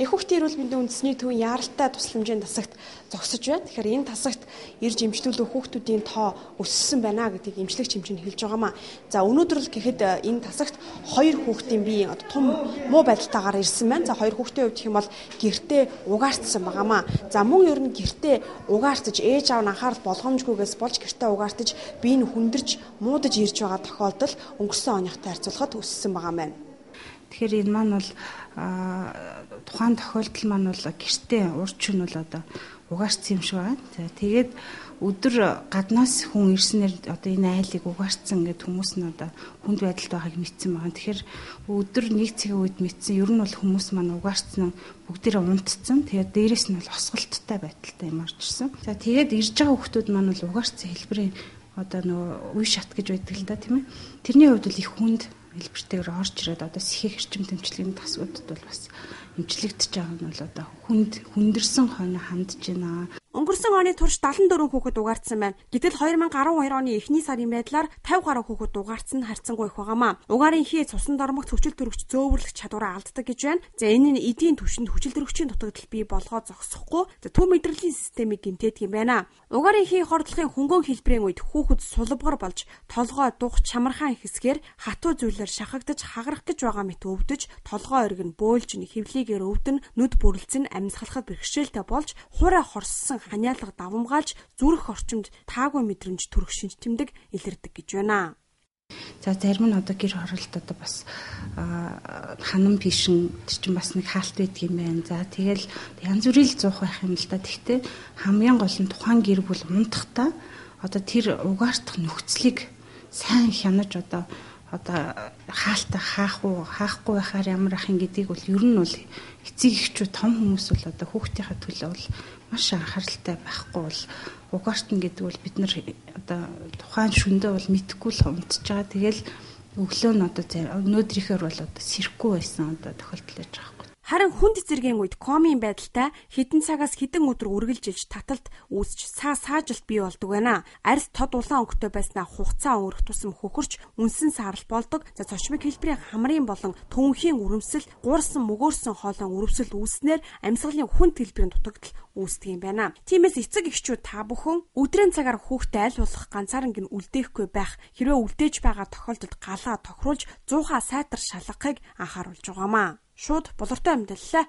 Их хүүхдийн эрүүл мэндийн үндэсний төвийн яаралтай тусламжийн тасагт зогсож байна. Тэгэхээр энэ тасагт ирж эмчилүүлэх хүүхдүүдийн тоо өссөн байна гэдгийг эмчлэгч хэмжээнд хэлж байгаамаа. За өнөөдөр л гэхэд энэ тасагт 2 хүүхдийн бие том муу байдалтайгаар ирсэн байна. За 2 хүүхдийн хувьд гэх юм бол гэртээ угаартсан байгаамаа. За мөн ер нь гэртээ угаартаж ээж аав нь анхаарал болгоомжгүйгээс болж гэртээ угаартаж бие нь хүндэрч муудаж ирж байгаа тохиолдол өнгөрсөн оныхтой харьцуулахад өссөн байгаамаа. Тэгэхээр энэ маань бол тухайн тохиолдол маань бол гэртээ урч нь бол одоо угаарсан юм шиг байна. За тэгээд өдөр гаднаас хүн ирснээр одоо энэ айлыг угаарсан гэдэг хүмүүс нь одоо хүнд байдалд байгааг мэдсэн байгаа. Тэгэхээр өдөр нэг цагийн үед мэдсэн ер нь бол хүмүүс маань угаарсан бүгдээрээ унтцсан. Тэгээд дээрэс нь бол осголттой байдалтай юм орж ирсэн. За тэгээд ирж байгаа хүмүүс маань бол угаарсан хэлбэрийн одоо нөгөө үе шат гэж байдаг л да тийм ээ. Тэрний хувьд бол их хүнд хэлбэртэйгээр орж ирээд одоо сэхэх эрчим тэмцлийн тасгуудад бол бас эмчлэгдэж байгаа нь бол одоо хүндэрсэн хойно хандж байна. Өнгөрсөн оны турш 74 хүүхэд угаартсан байна. Гэтэл 2012 оны эхний сарын байдлаар 50 гаруй хүүхэд угаартсан нь харьцангуй их байгаамаа. Угаарын хий цусан дормогт хүчил төрөгч зөөвөрлөх чадвараа алддаг гэж байна. За энэ нь эдийн түвшинд хүчил төрөгчийн дутагдал бий болгоо зогсохгүй. За төв мэдрэлийн системийг гэмтээдэг юм байна. Угаарын хий хордлохын хөнгөн хэлбэрийн үед хүүхэд сулбгар болж толгой дух чамархан хэсгээр хатуу зүйлээр шахагдаж хагарах гэж байгаа мэт өвдөж толгой оргин бөөлж хэвлийгээр өвдөн нүд бүрлцэн амьсгалахад бэрхшээлтэй болж хуурай хорссон ханиалга давамгаалж зүрх орчимд таагүй мэдрэмж төрөх шинж тэмдэг илэрдэг гэж байна. За зарим нь одоо гэр хороолт одоо бас ханам пишин чинь бас нэг хаалт байдаг юм байна. За тэгэл янз бүрийн зуух байх юм л да. Тэгтээ хамгийн гол нь тухайн гэр бүл унтахтаа одоо тэр угаартах нөхцөлийг сайн хянаж одоо хаалтаа хаахгүй байхаар ямар ах юм гэдгийг бол ер нь бол эцэг эхчүүд том хүмүүс бол одоо хүүхдийнхээ төлөө бол маш анхааралтай байхгүй бол угаартна гэдэг бол бид нар одоо тухайн шөндөө бол мэдхгүй л унтж байгаа. Тэгэл өглөө нь одоо өнөөдрийнхээр бол одоо сэрхгүй байсан одоо тохиолдол байж байгаа. Харин хүнд зэргийн үед комын байдалтай хэдэн цагаас хэдэн өдөр үргэлжилж таталт үүсч саажилт бий болдог байна. Арьс тод улаан өнгөтэй байснаа хугацаа өнгөрөх тусам хөхөрч үнсэн саарал болдог. За цочмог хэлбэрийн хамрын болон төвөнхийн үрэмсэл, гуурсан мөгөөрсөн хоолойн үрэмсэл үүснээр амьсгалын хүнд хэлбэрийн дутагдал үүсдэг юм байна. Тиймээс эцэг эхчүүд та бүхэн өдрийн цагаар хүүхдэд аль болох ганцаарнг нь үлдээхгүй байх, хэрвээ үлдээж байгаа тохиолдолд галаа тохируулж 100-аа сайтар шалгахыг анхааруулж байгаамаа. Шууд болортой амьдлаа.